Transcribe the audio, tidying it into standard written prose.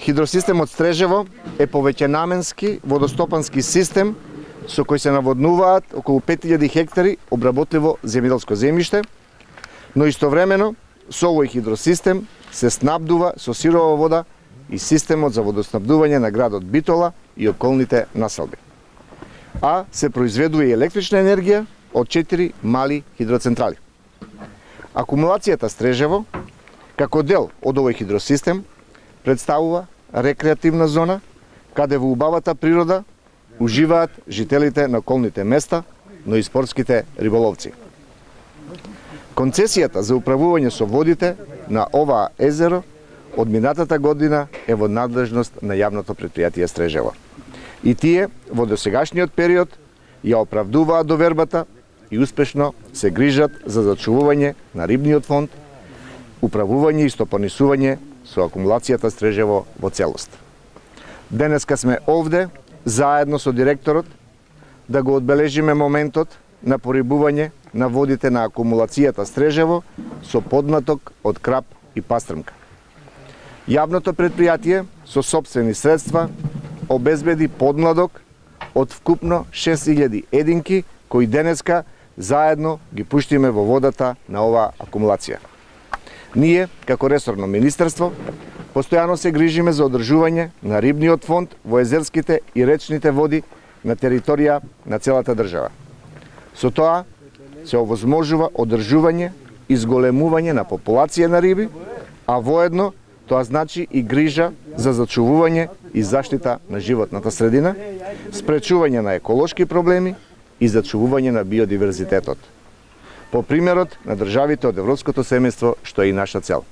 Хидросистемот Стрежево е повеќенаменски водостопански систем со кој се наводнуваат околу 5000 хектари обработливо земјоделско земјиште, но истовремено со овој хидросистем се снабдува со сирова вода и системот за водоснабдување на градот Битола и околните населби. А се произведува и електрична енергија од 4 мали хидроцентрали. Акумулацијата Стрежево, како дел од овој хидросистем, представува рекреативна зона, каде во убавата природа уживаат жителите на околните места, но и спортските риболовци. Концесијата за управување со водите на оваа езеро од минатата година е во надлежност на јавното претпријатие Стрежево. И тие во досегашниот период ја оправдуваат довербата и успешно се грижат за зачувување на рибниот фонд, управување и стопанисување со акумулацијата Стрежево во целост. Денеска сме овде, заедно со директорот, да го одбележиме моментот на порибување на водите на акумулацијата Стрежево со подматок од крап и пастрмка. Јавното претпријатие со сопствени средства обезбеди подмладок од вкупно 6000 единки, кои денеска заедно ги пуштиме во водата на оваа акумулација. Ние, како ресорно министерство, постојано се грижиме за одржување на рибниот фонд во езерските и речните води на територија на целата држава. Со тоа се овозможува одржување и зголемување на популација на риби, а воедно тоа значи и грижа за зачувување и заштита на животната средина, спречување на еколошки проблеми и зачувување на биодиверзитетот. По примерот на државите од Европското семејство, што е и наша цел.